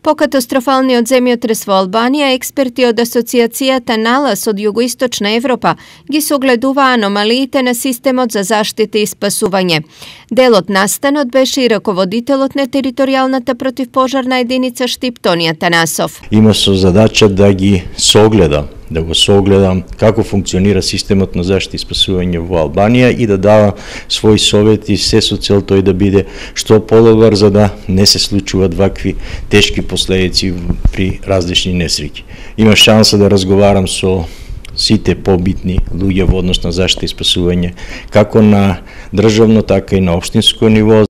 По катастрофалниот земјотрес во Албанија, експерти од Асоциацијата Налас од Југоисточна Европа ги согледува аномалиите на системот за заштита и спасување. Дел од настанот беше и раководителот на територијалната противпожарна единица Штип Тони Атанасов. Има со задача да ги согледа, да го согледам како функционира системот на заштита и спасување во Албанија и да дава своји совети, се со цел тој да биде што подобар за да не се случуваат вакви тешки последици при различни несреќи. Има шанса да разговарам со сите побитни луѓе во однос на заштита и спасување, како на државно, така и на општинско ниво.